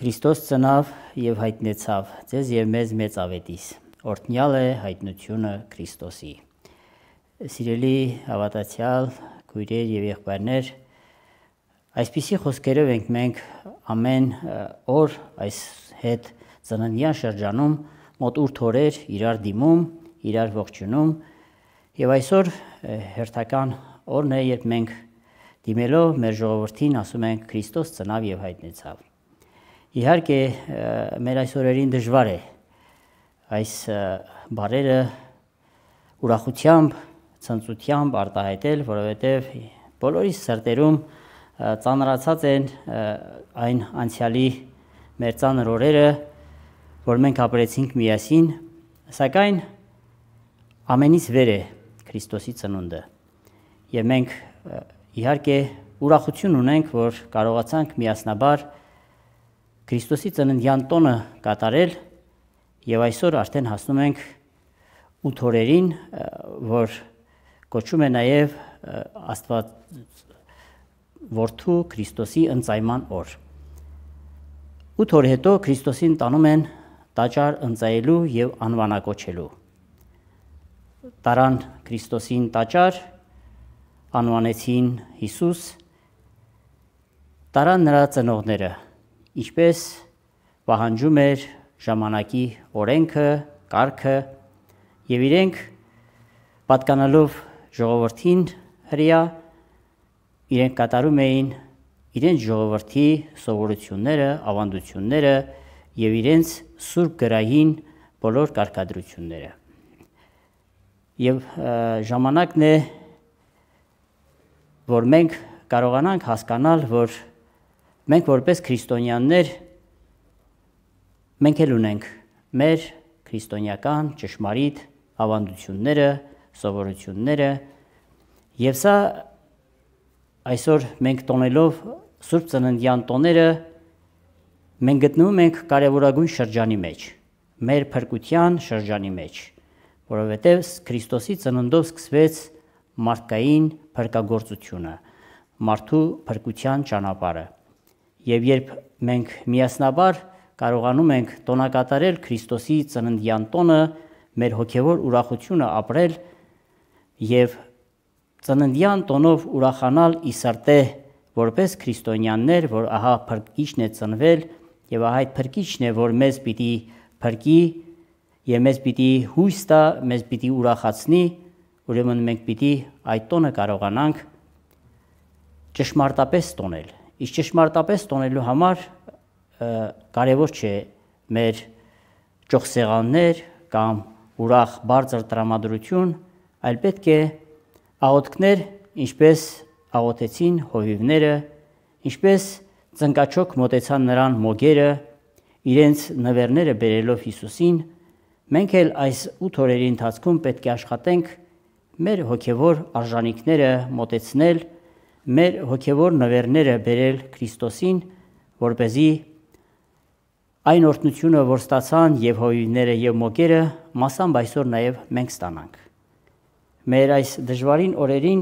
Քրիստոս ծնավ և հայտնեցավ ձեզ և մեզ մեծ ավետիս, օրհնյալ է հայտնությունը Քրիստոսի։ Սիրելի հավատացյալ քույրեր և եղբայրներ, այսպիսի խոսքերով ենք մենք ամեն օր այս հետ ծննդյան շրջանում մոտ 8 օրեր իրար դիմում, իրար ողջունում և այսօր հերթական օրն է, երբ մենք դիմելով մեր ժողովրդին ասում ենք Քրիստոս ծնավ և հայտնեցավ։ Իհարկե մեր այս օրերին դժվար է այս բառերը ուրախությամբ, ցնծությամբ արտահայտել, որովհետև բոլորիս սրտերում ծանրացած են այն անցյալի մեր ծանր օրերը, որ մենք ապրեցինք միասին, սակայն ամենից վեր է Քրիստոսի ծնունդը։ Եվ մենք իհարկե ուրախություն ունենք, որ կարողացանք միասնաբար Քրիստոսի ծննդյան տոնը կատարել և այսօր արդեն հասնում ենք 8 օրերին, որ կոչում է նաև Աստված Որդու Քրիստոսի ընծայման օր։ 8 օր հետո Քրիստոսին տանում են տաճար ընծայելու և անվանակոչելու։ Տարան Քրիստոսին տաճար, անվանեցին Հիսուս, տարան նրա ծնողները, ինչպես պահանջում էր ժամանակի օրենքը, կարգը, և իրենք պատկանալով ժողովրդին հրեա, իրենք կատարում էին իրենց ժողովրդի սովորությունները, ավանդությունները և իրենց սուրբ գրային բոլոր կարգադրությունները։ Եվ ժամանակն է, որ մենք կարողանանք հասկանալ, որ մենք որպես քրիստոնյաներ մենք էլ ունենք մեր քրիստոնեական ճշմարիտ ավանդությունները, սովորությունները, և սա այսօր մենք տոնելով Սուրբ Ծննդյան տոները մենք գտնվում ենք կարևորագույն շրջանի մեջ, մեր փրկության շրջանի մեջ, որովհետև Քրիստոսի ծննդով սկսվեց մարդկային փրկագործությունը, մարդու փրկության ճանապարհը։ Եվ երբ մենք միասնաբար կարողանում ենք տոնակատարել Քրիստոսի ծննդյան տոնը, մեր հոգևոր ուրախությունը ապրել և ծննդյան տոնով ուրախանալ ի սրտե որպես քրիստոնյաներ, որ ահա փրկիչն է ծնվել և ահա այդ փրկիչն է, որ մեզ պիտի փրկի և մեզ պիտի հույս տա, մեզ պիտի ուրախացնի, ուրեմն մենք պիտի այդ տոնը կարողանանք ճշմարտապես տոնել։ Իսկ ճշմարտապես տոնելու համար կարևոր չէ մեր ճոխսեղաններ կամ ուրախ բարձր տրամադրություն, այլ պետք է աղոթքներ, ինչպես աղոթեցին հովիվները, ինչպես ծնկաչոք մոտեցան նրան մոգերը, իրենց նվերները բերելով Հիսուսին, մենք էլ այս 8 օրերի ընթացքում պետք է աշխատենք մեր հոգևոր արժանինքները մոտեցնել, մեր հոգևոր նվերները բերել Քրիստոսին, որպեսզի այն օրհնությունը, որ ստացան և հովիվները և մոգերը, մասամբ այսօր նաև մենք ստանանք։ Մեր այս դժվարին օրերին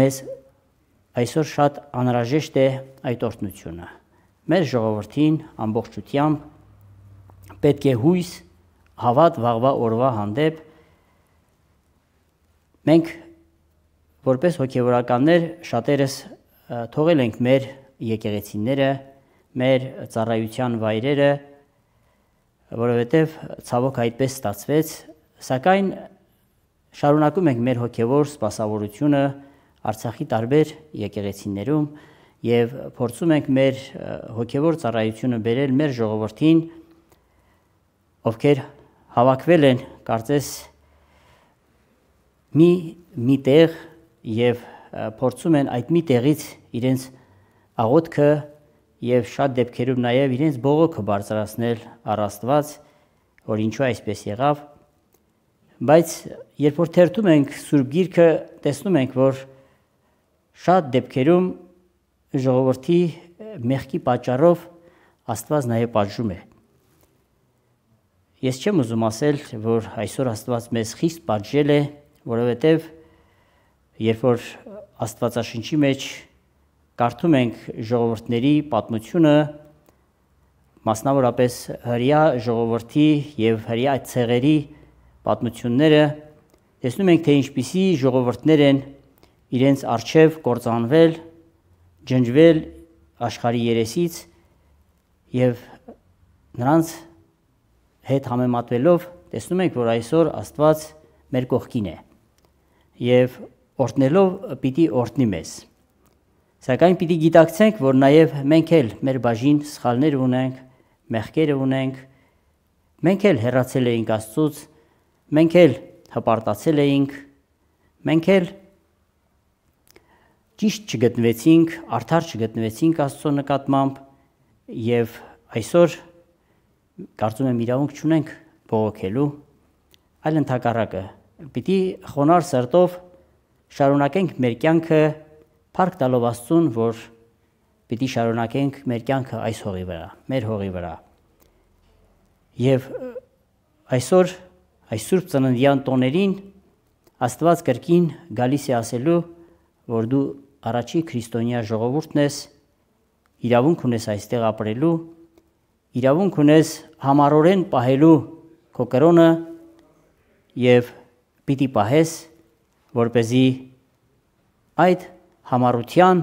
մեզ այսօր շատ անհրաժեշտ է այդ օրհնությունը։ Մեր ժողովրդին ամբողջությամբ պետք է հույս, հավատ վաղվա օրվա հանդեպ։ Մենք որպես հոգևորականներ շատերս թողել ենք մեր եկեղեցիները, մեր ծառայության վայրերը, որովհետև ցավոք այդպես ստացվեց, սակայն շարունակում ենք մեր հոգևոր սպասավորությունը Արցախի տարբեր եկեղեցիներում և փորձում ենք մեր հոգևոր ծառայությունը բերել մեր ժողովրդին, ովքեր հավաքվել են կարծես մի տեղ և փորձում են այդ մի տեղից իրենց աղոթքը և շատ դեպքերում նաև իրենց բողոքը բարձրացնել առ Աստված, որ ինչու այսպես եղավ, բայց երբ որ թերթում ենք Սուրբ Գիրքը, տեսնում ենք, որ շատ դեպքերում ժողովրդի մեղքի պատճառով Աստված նաև պատժում է։ Ես չեմ ուզում ասել, որ այսօր Աստված մեզ խիստ պատժել է, որովհետև երբ որ Աստվածաշնչի մեջ կարդում ենք ժողովուրդների պատմությունը, մասնավորապես հրեա ժողովրդի եւ հրեա ցեղերի պատմությունները, տեսնում ենք, թե ինչպիսի ժողովուրդներ են իրենց արչև կործանվել, ջնջվել աշխարհի երեսից եւ նրանց հետ համեմատվելով տեսնում ենք, որ այսօր Աստված մեր կողքին է եւ օրհնելով պիտի օրհնի մեզ։ Սակայն պիտի գիտակցենք, որ նաև մենք էլ մեր բաժին սխալներ ունենք, մեղքեր ունենք, մենք էլ հեռացել էինք Աստծուց, մենք էլ հպարտացել էինք, մենք էլ ճիշտ չգտնվեցինք, արդար չգտնվեցինք Աստծո նկատմամբ եւ այսօր կարծում եմ իրավունք չունենք բողոքելու, այլ ընդհակառակը պիտի խոնարհ սրտով շարունակենք մեր կյանքը փառք տալով Աստծուն, որ պիտի շարունակենք մեր կյանքը այս հողի վրա, մեր հողի վրա։ Եվ այսօր այս Սուրբ Ծննդյան տոներին Աստված կրկին գալիս է ասելու, որ դու առաջի քրիստոնյա ժողովուրդն ես, իրավունք ունես այստեղ ապրելու, իրավունք ունես համառորեն պահելու քո կրոնը եւ պիտի պահես, որպեսզի այդ համառության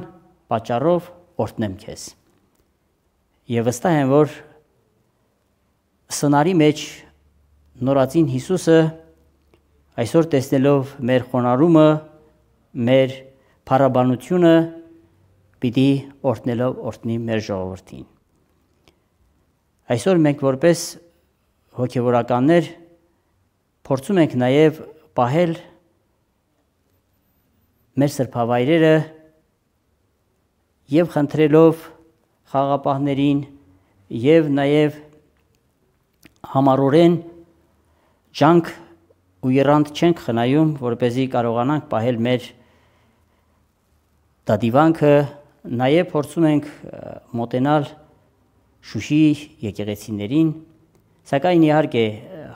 պատճառով օրհնեմ քեզ։ Եվ վստահ եմ, որ սնարի մեջ նորածին Հիսուսը այսօր տեսնելով մեր խոնարհումը, մեր փառաբանությունը, պիտի օրհնելով օրհնի մեր ժողովրդին։ Այսօր մենք որպես հոգևորականներ փորձում ենք նաև պահել մեր սրբավայրերը եւ խնդրելով խաղապահներին եւ նաեւ համառորեն ջանք ու երանդ չենք խնայում, որպեսզի կարողանանք պահել մեր դադիվանքը, նաեւ փորձում ենք մոտենալ Շուշի եկեղեցիներին, սակայն իհարկե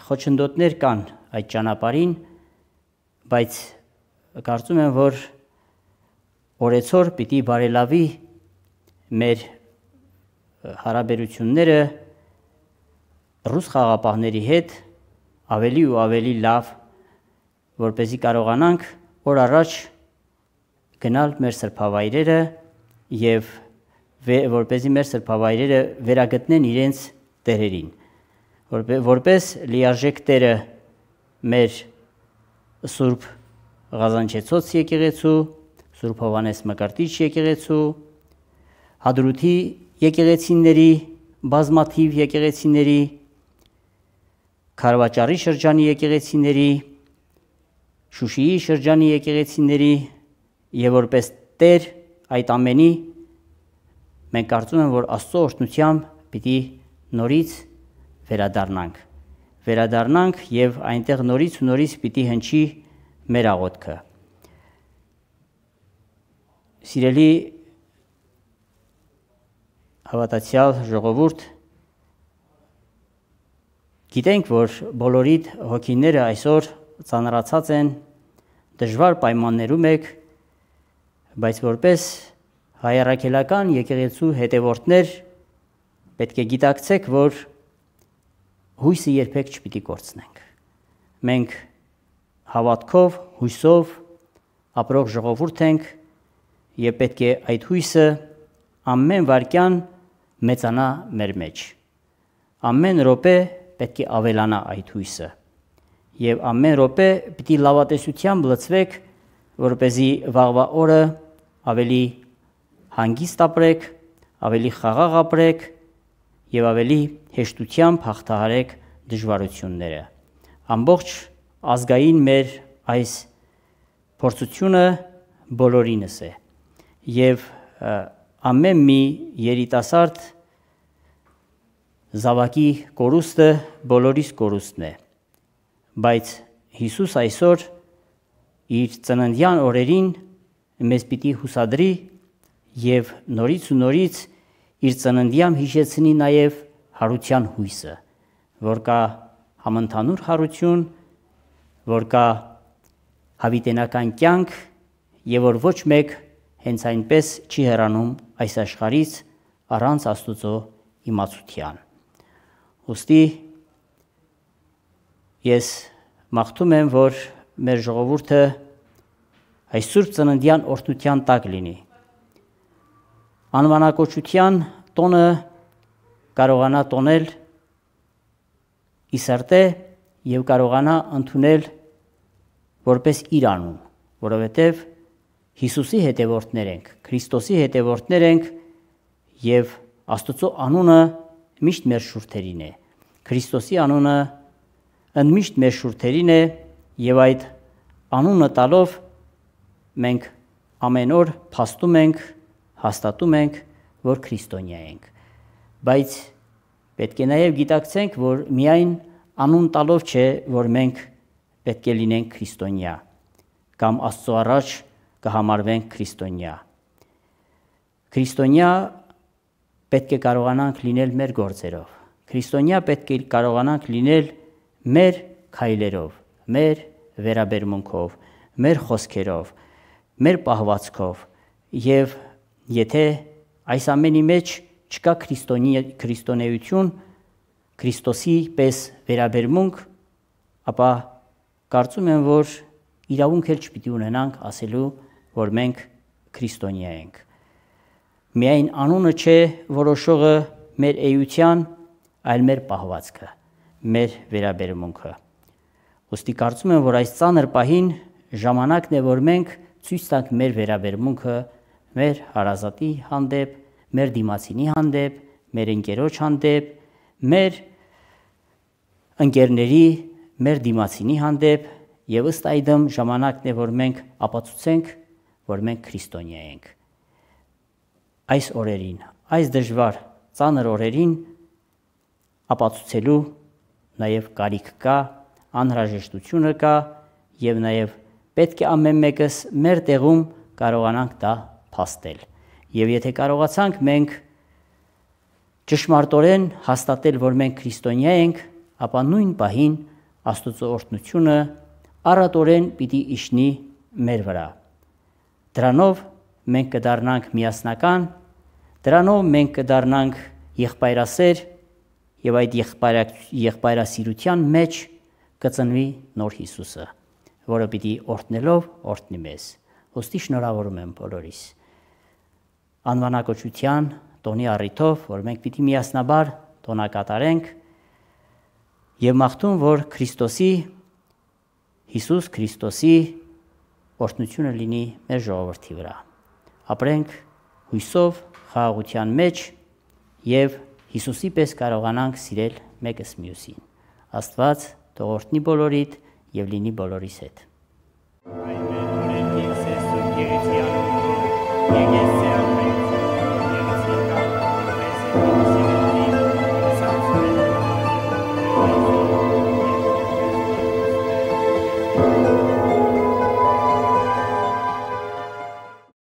խոչընդոտներ կան այդ ճանապարհին, բայց կարծում եմ, որ օրեցօր պիտի բարելավի մեր հարաբերությունները ռուս խաղապահների հետ ավելի ու ավելի լավ, որպեսզի կարողանանք օր առաջ գնալ մեր սրբավայրերը եւ որպեսզի մեր սրբավայրերը վերագտնեն իրենց տերերին, որպես լիարժեք տերը մեր Սուրբ Ղազանչեցոց եկեղեցու, Սուրբ Հովհաննես Մկրտիչ եկեղեցու, Հադրութի եկեղեցիների, բազմաթիվ եկեղեցիների, Քարվաճարի շրջանի եկեղեցիների, Շուշիի շրջանի եկեղեցիների եւ որպես Տեր այդ ամենի մենք կարծում եմ, որ Աստծո օրհնությամբ պիտի նորից վերադառնանք եւ այնտեղ նորից պիտի հնչի մեր աղոթքը։ Սիրելի հավատացյալ ժողովուրդ, գիտենք, որ բոլորիդ հոգիները այսօր ծանրացած են, դժվար պայմաններում եք, բայց որպես հայարակելական եկեղեցու հետևորդներ պետք է գիտակցեք, որ հույսը երբեք չպիտի կորցնենք։ Մենք հավատքով, հույսով ապրող ժողովուրդ ենք եւ պետք է այդ հույսը ամեն վայրկյան մեծանա մեր մեջ։ Ամեն րոպե պետք է ավելանա այդ հույսը եւ ամեն րոպե պիտի լավատեսությամբ լցվեք, որպեսզի վաղվա օրը ավելի հանգիստ ապրեք, ավելի խաղաղ ապրեք եւ ավելի հեշտությամբ հաղթահարեք դժվարությունները։ Ամբողջ ազգային մեր այս փորձությունը բոլորինս է եւ ամեն մի երիտասարդ զավակի կորուստը բոլորիս կորուստն է, բայց Հիսուս այսօր իր ծննդյան օրերին մեզ պիտի հուսադրի եւ նորից ու նորից իր ծննդյամ հիշեցնի նաև հարության հույսը, որ կա համընդհանուր հարություն, որ կա հավիտենական կյանք եւ որ ոչ մեկ հենց այնպես չի հեռանում այս աշխարհից առանց Աստուծո իմացության։ Ուստի ես մաղթում եմ, որ մեր ժողովուրդը այս Սուրբ Ծննդյան օրհնության տակ լինի։ Անվանակոչության տոնը կարողանա տոնել ի սրտե եւ կարողանա ընդունել որպես իր անուն, որովհետեւ Հիսուսի հետևորդներ ենք, Քրիստոսի հետևորդներ ենք եւ Աստծո անունը միշտ մեր շուրթերին է։ Քրիստոսի անունը ընդմիշտ մեր շուրթերին է եւ այդ անունը տալով մենք ամեն օր փաստում ենք, հաստատում ենք, որ քրիստոնյա ենք։ Բայց պետք է նաեւ գիտակցենք, որ միայն անուն տալով չէ, որ մենք պետք է լինենք քրիստոնյա կամ Աստծո առաջ կհամարվենք քրիստոնյա։ Քրիստոնյա պետք է կարողանանք լինել մեր գործերով։ Քրիստոնյա պետք է կարողանանք լինել մեր քայլերով, մեր վերաբերմունքով, մեր խոսքերով, մեր պահվածքով եւ եթե այս ամենի մեջ չկա քրիստոնեություն, Քրիստոսի պես վերաբերմունք, ապա կարծում եմ, որ իրավունք էլ չպիտի ունենանք ասելու, որ մենք քրիստոնյա ենք։ Միայն անունը չէ որոշողը մեր էության, այլ մեր պահվածքը, մեր վերաբերմունքը։ Ոստի կարծում եմ, որ այս ծանր պահին ժամանակն է, որ մենք ցույց տանք մեր վերաբերմունքը մեր հարազատի հանդեպ, մեր դիմացինի հանդեպ, մեր ընկերոջ հանդեպ, մեր ընկերների, մեր դիմացինի հանդեպ եւ ըստ այդմ ժամանակն է, որ մենք ապացուցենք, որ մենք քրիստոնյա ենք։ Այս օրերին, այս դժվար ծանր օրերին ապացուցելու նաև կարիք կա, անհրաժեշտությունը կա եւ նաև պետք է ամեն մեկս մեր տեղում կարողանանք դա փաստել։ Եվ եթե կարողացանք մենք ճշմարտորեն հաստատել, որ մենք քրիստոնյա ենք, ապա նույն պահին Աստծո օրհնությունը առատորեն պիտի իջնի մեր վրա։ Դրանով մենք կդառնանք միասնական, դրանով մենք կդառնանք եղբայրասեր եւ այդ եղբայրասիրության մեջ կծնվի նոր Հիսուսը, որը պիտի օրհնելով օրհնի մեզ։ Ոստի շնորհավորում եմ բոլորիս։ Անվանակոչության տոնի առիթով, որ մենք պիտի միասնաբար տոնակատարենք եւ մաղթում, որ Հիսուս Քրիստոսի օրհնությունը լինի մեր ժողովրդի վրա։ Ապրենք հույսով, խաղաղության մեջ եւ Հիսուսի պես կարողանանք սիրել մեկս մյուսին։ Աստված թող օրհնի բոլորիդ եւ լինի բոլորիս հետ։ Այմեն, օրենքին սեսու գերեցի անունով, եկես